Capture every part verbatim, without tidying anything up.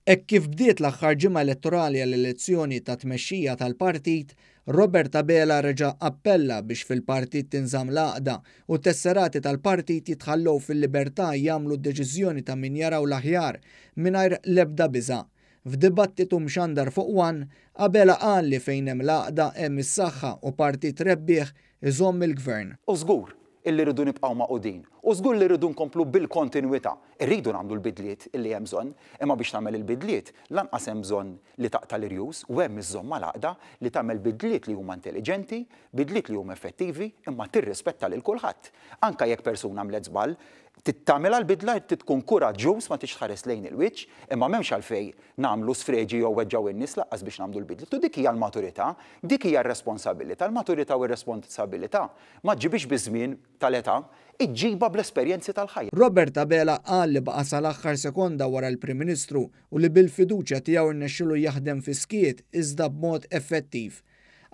Hekk kif bdiet l-aħħar ġimgħa elettorali għall-elezzjoni ta' tmexxija tal-partit, Robert Abela reġa' appella biex fil-partit tinżamm l-għaqda u t-tesserati tal-partit jitħallew fil-libertà jagħmlu d-deċiżjoni ta' min jaraw l-aħjar mingħajr l-ebda biża'. F'dibattitu mxandar fuq One, Abela qal li fejn hemm l-għaqda hemm is-saħħa u partit rebbieħ iżomm il-gvern. U żgur illi rridu nibqgħu magħqudin. U żgur li rridu nkomplu bil-kontinwità. Irridu nagħmlu l-bidliet illi hemm bżonn, imma biex tagħmel il-bidliet lanqas hemm bżonn li taqta' l-irjus u hemm iżżomm mal-għaqda li tagħmel bidliet li huma intelliġenti, bidliet li huma effettivi, imma tirrispetta lil kulħadd. Anke jekk persuna għamlet żball, tagħmilha l-bidla trid tkun kuraġġuż ma tix tħares lejn il-wiċċ, imma m'hemmx għalfejn nagħmlu sfreġi jew weġġgħu in-nies lanqas biex nagħmlu l-bidliet. U dik hija l-maturità, dik hija r-responsabilità. Il-maturità u r-responsabilità ma ġġibix biż-żmien tal-età, iġġibha bl-esperjenzi tal-ħajja. Robert Abela qal li baqa' sal-aħħar sekonda wara l-Prim Ministru u li bil-fiduċja tiegħu rnexxielu jaħdem fi skiet iżda b'mod effettiv.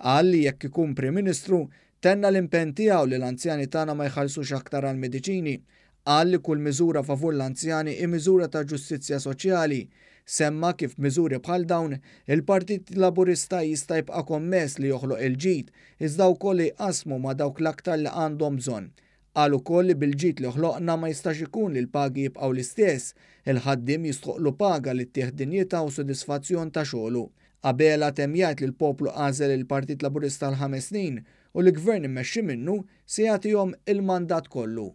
Qal li jekk ikun Prim Ministru tenna l-impenn tiegħu li l-anzjani tagħna ma jħallsux aktar għall-mediċini. Qal li kull miżura favur l-anzjani hi miżura ta' ġustizzja soċjali. Semma kif miżuri bħal dawn il-Partit Laburista jista' jibqa' kommess li joħloq il-ġid iżda wkoll jqasmu ma' dawk l-aktar li għandhom bżonn. Qal ukoll li bil-ġid li ħloqna ma jistax ikun li l-pagi jibqgħu l-istess, il-ħaddiem jistħoqlu paga li ttieħ dinjità u sodisfazzjon ta' xogħlu. Abela temm jgħid li l-poplu għażel il-Partit Laburista għal ħames snin u li gvern immexxi minnu se jagħtihom il-mandat kollu.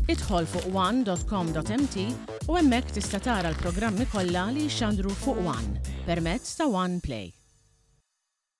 Idħol fuq one dot com dot m t u hemmhekk tista' tara l-programmi kollha li jxandru fuq One permezz ta' One Play.